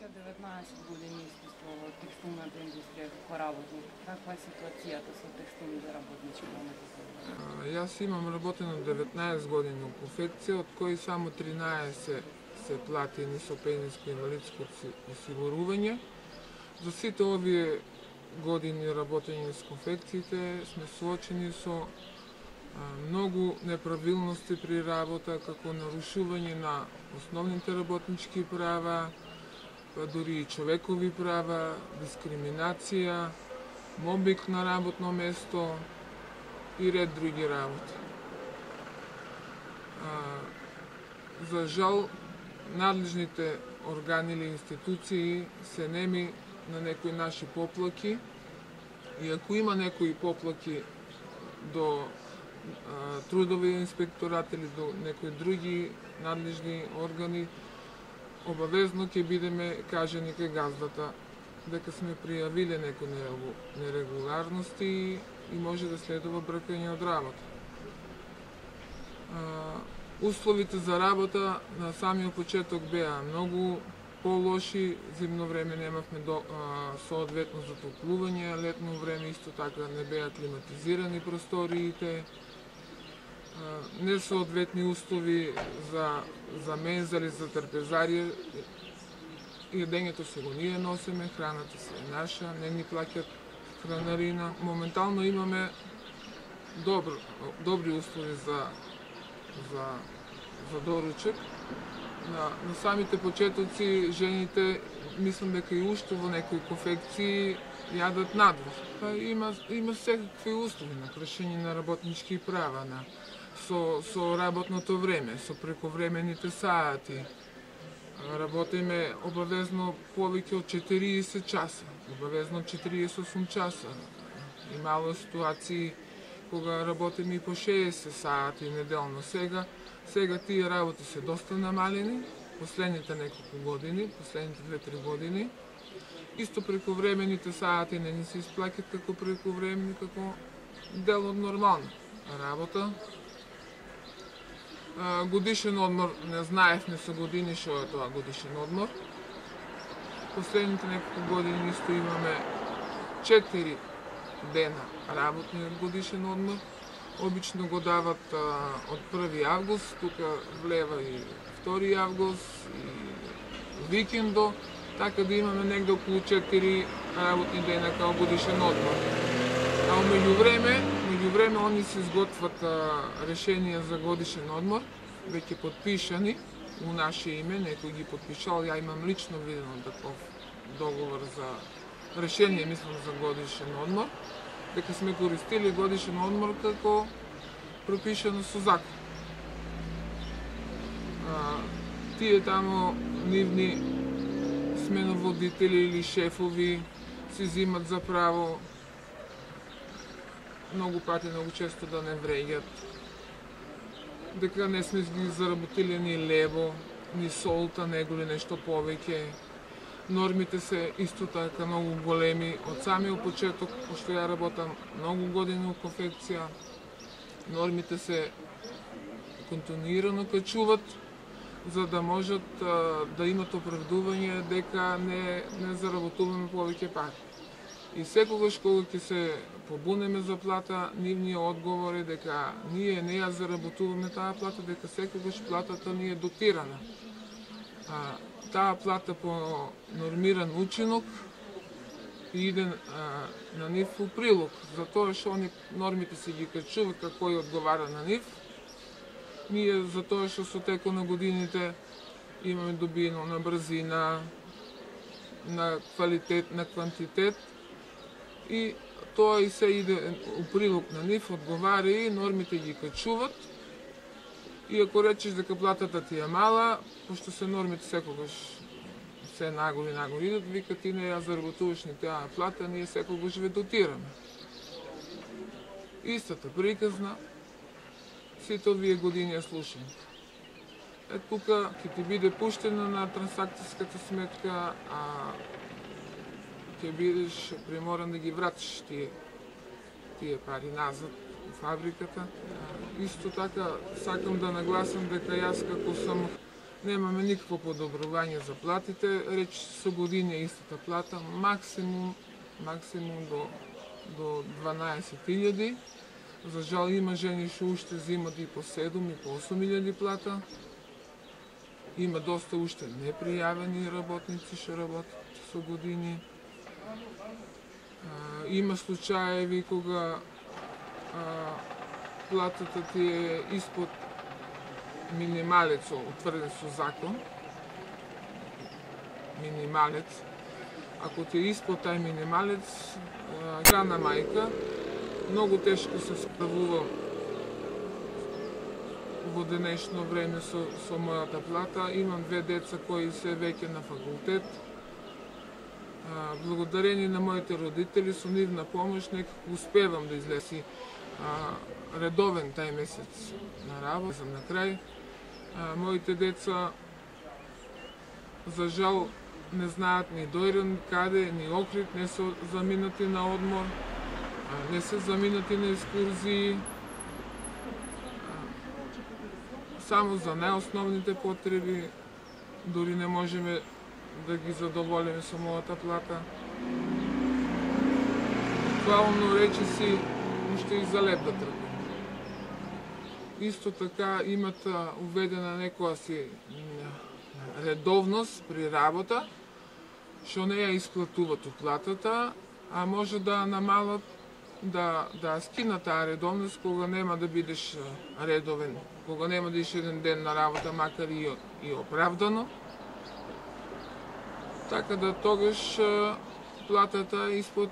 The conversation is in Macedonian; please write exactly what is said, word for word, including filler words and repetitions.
Веќе деветнаесет години искуство во текстилната индустрија како работник. Каква е ситуацијата со текстилните работнички момента? Јас имам работено деветнаесет години во конфекција, од кои само тринаесет се платени со пензиско инвалидско осигурување. За сите овие години работење с конфекциите сме соочени со многу неправилности при работа, како нарушување на основните работнички права, па дури и човекови права, дискриминација, мобинг на работно место и ред други работи. За жал, надлежните органи или институции се неми на некои наши поплаки и ако има некои поплаки до трудови инспекторат или до некои други надлежни органи, обавезно ќе бидеме кажани кај газдата дека сме пријавиле некои нерегуларности и може да следува бркање од работа. Условите за работа на самиот почеток беа многу по-лоши, зимно време немавме до, а, соодветно затоплување, летно време исто така не беа климатизирани просториите, а, несоодветни услови за, за мензали, за трпезарија, јадењето се го ние носиме, храната се е наша, не ни плаќат хранарина. Моментално имаме добро, добри услови за, за, за доручек. На, на самите почетоци жените, мислам дека и уште во некои конфекции јадат надвор. Па има, има секакви услови на кршење на работнички права, на, со, со работното време, со прековремените сати. Работиме обавезно повеќе од четириесет часа, обавезно четириесет и осум часа. Имало ситуации кога работиме и по шеесет сати неделно. Сега Сега тие работи се доста намалени, последните неколку години, последните две-три години. Исто прековремените сати не ни се исплаќат како прековремени, како дел од нормална работа. Годишен одмор, не знаевме со години што е тоа годишен одмор. Последните неколку години исто имаме четири дена работни годишен одмор. Обично го дават а, од први август, тука влева и втори август, и викендо, така да имаме негде околу четири работни дена као годишен одмор. А меѓу време, меѓу време они се изготват а, решенија за годишен одмор, веќе подпишани у наше име, некој ги подпишал, ја имам лично видено таков договор за решение, мислам, за годишен одмор, дека сме користили годишен одмор како пропишано со закон. А, тие тамо нивни сменоводители или шефови си зимат за право многу пати, многу често да не вреѓат, дека не сме ги заработили ни лево, ни солта, него ли нешто повеќе. Нормите се исто така многу големи. Од самиот почеток, пошто ја работам многу години во конфекција, нормите се континуирано качуват, за да можат а, да имат оправдување дека не, не заработуваме повеќе пари. И секогаш кога ќе се побунеме за плата, нивниот одговор е дека ние не ја заработуваме таа плата, дека секогаш платата ни е дотирана. А, таа плата по нормиран учинок иде а, на нив у прилог, затоа што они нормите се ги качуваат како и одговара на нив. Ние затоа што со теко на годините имаме добиено на брзина, на квалитет, на квантитет и тоа и се иде у прилог на нив, одговара и нормите ги качуваат. И ако речеш дека платата ти е мала, пошто се нормите секогаш се нагори нагори идат, вика ти не ја заработуваш ни таа плата, ние секогаш ве дотираме. Истата приказна, сите овие години ја слушам. Е тука ќе ти биде пуштена на трансакцијската сметка, а ќе бидеш приморан да ги вратиш тие, тие пари назад во фабриката. Исто така сакам да нагласам дека јас како сум Немаме никакво подобрување за платите, реч со години е истата плата, максимум, максимум до, до дванаесет илјади. За жал има жени што уште земат и по седум и по осум илјади плата. Има доста уште непријавени работници што работат со години. А, има случаеви кога а, платата ти е испод минималец утврден со закон. Минималец. Ако ти е испод тај минималец, храна мајка, многу тешко се справува во денешно време со, со мојата плата. Имам две деца кои се веќе на факултет. А, благодарение на моите родители, со нивна помош, некако успевам да излеси а, редовен тај месец на работа. Сам на крај. А, моите деца, за жал, не знаат ни дојрен каде, ни Охрид, не се заминати на одмор, а, не се заминати на екскурзии. Само за најосновните потреби, дури не можеме да ги задоволиме со мојата плата. Буквално речиси, уште и за леп да трпим. Исто така имат уведена некоја си редовност при работа, што не ја исплатуват од платата, а може да намалат, да, да скинат таа редовност кога нема да бидеш редовен, кога нема да идеш еден ден на работа, макар и, и оправдано. Така да тогаш платата е испод